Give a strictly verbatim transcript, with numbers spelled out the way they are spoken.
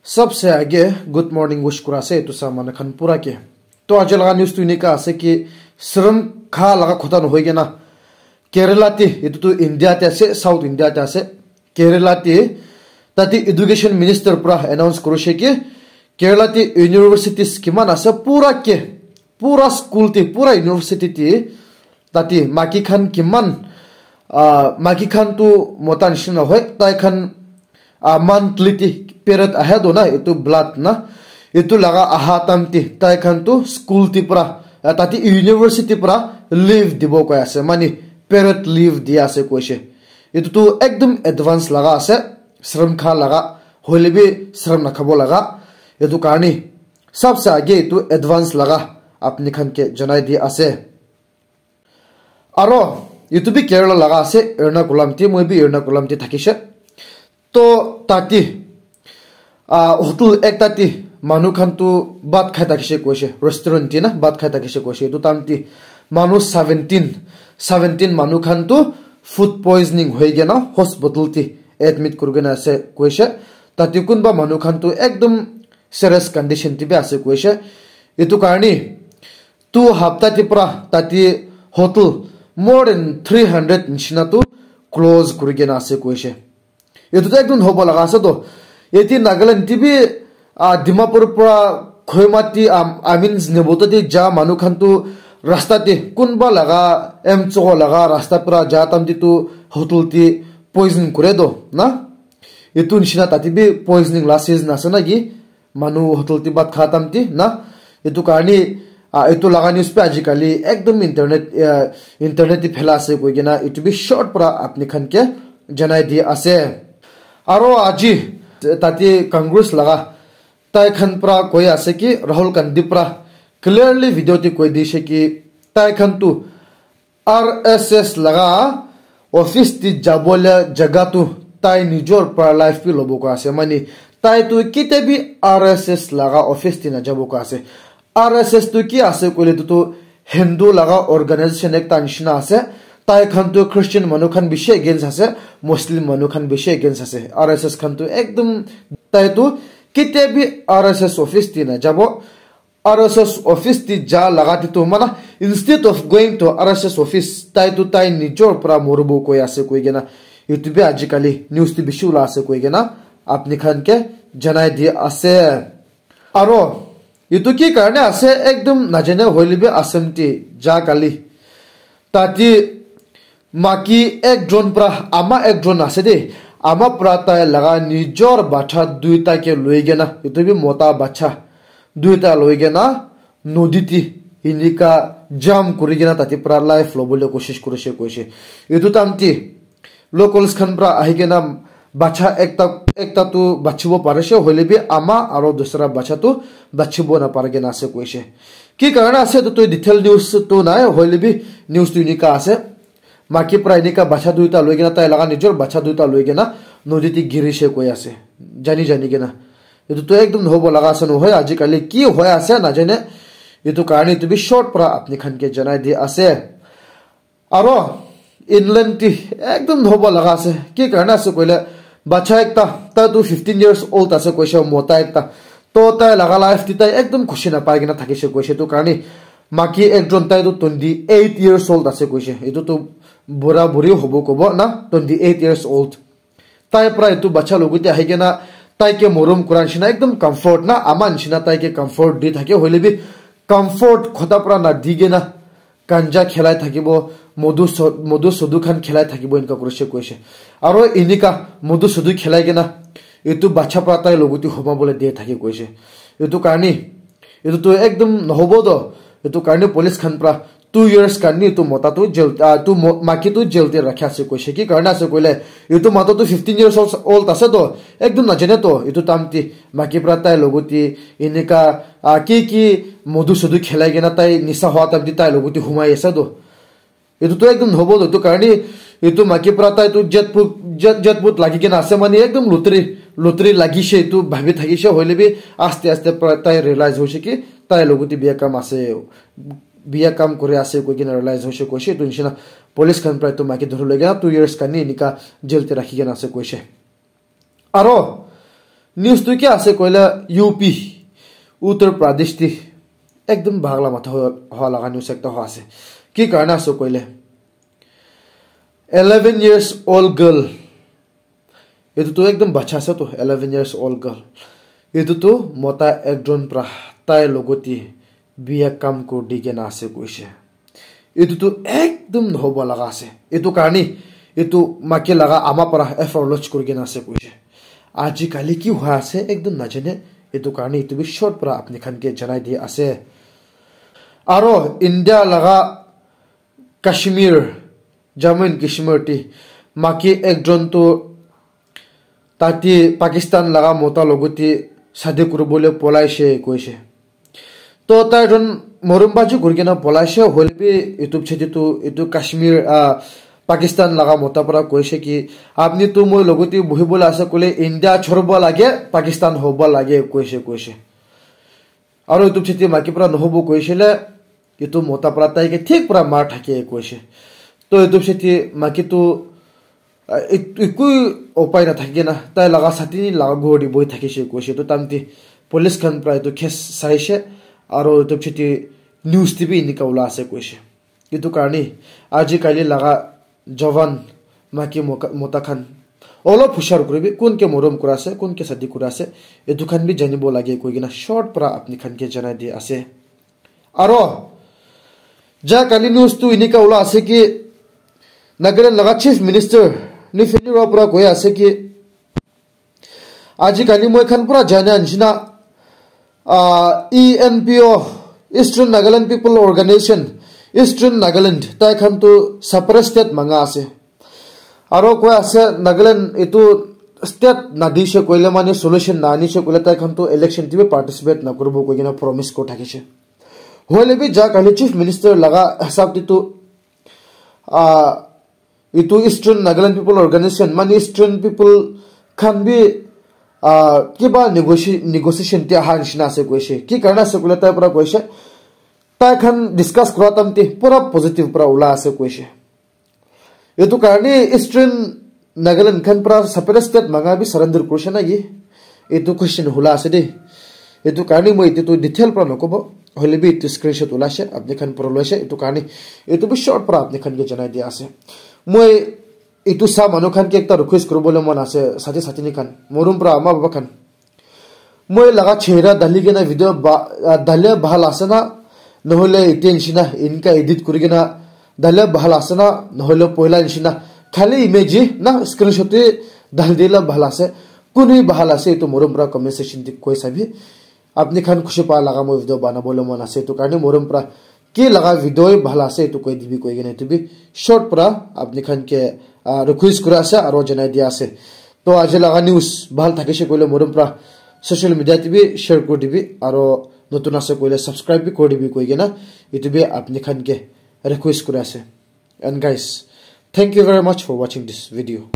Sabse aage good morning wish kura ase etu sa manu khan pura ke. To aji laga news tu enika ase ki shram kha laga khota nohoi kena Kerala te, etu tu India te ase, South India te ase. Kerala te tate education minister pura announce kurise ki Kerala te universities kiman ase pura ke, pura school te, pura university te tate maiki khan kiman, ah, maiki khan tu mota nishina hoi, tai khan, ah, monthly te period ahe do na, etu blood na, etu laga aha time te tai khan tu school te pura, ah, tate university pura leave dibo koi ase, mane period leave dia ase koise. Etu tu ekdum advance laga ase, shram kha laga, hoile bi shram nakhabo laga. Etu karne sabse aage etu advance laga apni khan ke janai di ase. Aro etu bi Kerala laga ase, Ernakulam te, moi bi Ernakulam te thakise. To tate, ah, hotel ekta te manu khan tu bhat khai thakise koise, restaurant te na bhat khai thakise koise. Etu time te manu seventeen, seventeen manu khan tu food poisoning hoi kena hospital te admit kuri kena ase koise. Tate kunba manu khan tu ekdum serious condition te bi ase koise. Etu karne tu hapta te pura tate hotel more than three hundred nishina tu close kuri kena ase koise. Etu tu ekdum hobo laga ase to. Eti Nagaland te bi, ah, Dimapur pura Khoimati, am-, I mean, Nebota te ja manu khan tu rasta te kunba laga, M Chogo laga rasta pura ja time te tu hotel te poison kure do na. Etu nishina tate bi poisoning la season ase na ki? Manu hotel te bhat kha time te na. Etu karne, ah, etu laga news bi ajikali ekdum internet, ah, internet te phela ase koi kena etu bi short pura apni khan ke janai di ase. Aro aji tate Congress laga tai khan pura koi ase ki Rahul Gandhi pura clearly video te koi dise ki tai khan tu R S S laga office te jabo la jaga tu tai nijor pura life bi lobo koi ase. Mane tai tu kite bi R S S laga office te na jabo koi ase. R S S tu ki ase koile tu tu Hindu laga organization ekta nishina ase. Tai khan tu Christian manu khan bishi against ase, Muslim manu khan bishi against ase. R S S khan tu ekdum tai tu kite bi R S S office te na jabo. R S S office te ja laga te tu mana, instead of going to R S S office, tai tu tai nijor pura moribo koi ase koi kena etu bi ajikali news te bishi ula ase koi kena apni khan ke janai di ase. Aro etu ki karne ase ekdum najane hoile bi Assam te ja kali tate maiki ekjon pura ama ekjon ase de, ama pura tai laga nijor bacha duita ke loi kena, etu bi mota bacha duita loi kena nodi te enika jump kuri kena tate pura life lobole koshish kurise koise. Etu time te locals khan pura ahi kena bacha ekta, ekta tu bachibo parise, hoile bi ama aro dusra bacha tu bachibo na pari kena ase koise. Ki karne ase etu tu detail news tu nai, hoile bi news tu enika ase. Maiki pura enika bacha duita loi kena, tai laga nijor bacha duita loi kena nodi te girise koi ase, jani jani kena. Etu tu ekdum hobo laga ase nohoi, ajikali ki hoi ase najane. Etu karne etu bi short pura apni khan ke janai di ase. Aro England te ekdum hobo laga ase. Ki karne ase koile, bacha ekta, tai tu fifteen years old ase koise, mota ekta. To tai laga life te tai ekdum khushi na pai kena thakise koise. Etu karne maiki ekjon, tai tu twenty eight years old ase koise. Etu tu bura buri hobo kobo na, twenty eight years old. Tai pura etu bacha logote ahi kena tai ke morom kura nishina ekdum comfort na, ama nishina tai ke comfort di thake, hoile bi comfort khota pura na di kena ganja khelai thakibo, modu so-, modu sodu khan khelai thakibo, enka kurise koise. Aro enika modu sodu khelai kena etu bacha pura tai logote huma bole de thake koise. Etu karne etu tu ekdum nohobo to. Etu karne police khan pura two years karne etu mota tu jail, ah, tu mo-, maiki tu jail te rakhi ase koise. Ki karne ase koile, etu mota tu fifteen years old, old ase to, ekdum najane to etu time te maiki pura tai logote enika, ah, ki ki modu sodu khelai kena tai nisa hoa time te tai logote humai ase to. Etu tu ekdum nohobo to, etu karne etu maiki pura tai tu jackpot, jack-, jackpot lagi kena ase, mane ekdum lottery, lottery lagise etu bhabi thakise, hoile bi aste aste pura tai realize hoise ki tai logote biya kam ase, biya kam kuri ase koi kena realize hoise koise. Etu nishina police khan pura etu maiki dhori loi kena two years karne enika jail te rakhi kena ase koise. Aro News tu ki ase koile, U P, Uttar Pradesh te ekdum bhag la matha hoa laga news ekta hoa ase. Ki karne ase koile, eleven years old girl, etu tu ekdum bacha ase to, eleven years old girl, etu tu mota ekjon pra tai logote biya kam kuri di kena ase koise. Etu tu ekdum nohobo laga ase. Etu karne etu maiki laga ama para F I R lodge kuri kena ase koise. Ajikali ki hua ase ekdum najane. Etu karne etu bi short para apni khan ke janai di ase. Aro India laga Kashmir, Jammu and Kashmir te maiki ekjon tu tate Pakistan laga mota logote shadi kuribole polaishe koishe. To tai jon morom baji kuri kena polaishe, hoile bi etu chete tu etu Kashmir, ah, Pakistan laga mota para koishe ki, "Apni tu moi logote bohibole ase koile India choribo lage, Pakistan hobo lage," koishe, koishe. Aro etu chete maiki para nohobo koishe le, etu mota para tai ke thik para mar thake koishe. To etu chete maiki tu, ah, ek-, ekoi upai na thaki kena, tai laga sathi laga ghor te bohi thakishe koishe. To tamte police khan para etu case saishe, aro etu chete news te bi enika ula ase koishe. Etu karne ajikali laga jawan maiki moka-, mota khan olop hushar kuribi, kun ke morom kura ase, kun ke shadi kura ase, etu khan bi janibo lage koi kena short para apni khan ke janai di ase. Aro ja kali news tu enika ula ase ki Nagaland laga Chief Minister Neiphiu Rio para koi ase ki ajikali moi khan pura jana nishina, ah, E N P O, Eastern Nagaland People Organization, Eastern Nagaland, tai khan tu separate state manga ase. Aro koi ase Nagaland etu state nadishe koile mane solution nanishe koile tai khan tu election te bi participate nakuribo koi kena promise kuri thakishe. Hoile bi ja kali Chief Minister laga hisab te tu, ah, etu Eastern Nagaland People Organization, mane Eastern people khan bi, ah, kiba negoti-, negotiation te aha nishina ase koishe. Ki karne ase koile tai para koishe, tai khan discuss kura time te pura positive para ula ase koishe. Etu karne Eastern Nagaland khan para separate state manga bi surrender kurishe na ki? Etu question hula ase de. Etu karne moi etu tu detail para nokobo. Hoile bi etu screenshot ulaishe, apni khan pura loishe. Etu karne etu bi short para apni khan ke janai dia ase. Moi etu sa manu khan ke ekta request kuribole mon ase, sathi sathini khan, morom para ama baba khan. Moi laga chehra dali kena video ba, ah, dali bhal ase na, nohole etia nishina, inka edit kuri kena dali bhal ase na, nohole poila nishina, khali image na screenshot te dali dila bhal ase, kunu bhal ase, etu morom para comment section te koi sabi. Apni khan khushi pa laga moi video banabole mon ase, etu karne morom para ki laga video bhal ase, etu koi dibi koi kena, etu bi short para apni khan ke, ah, request kura ase, aro janai dia ase. To aji laga news bhal thakishe koile morom para social media te bi share kuri dibi, aro notun ase koile subscribe bi kuri dibi koi kena, etu bi apni khan ke request kura ase. And guys, thank you very much for watching this video.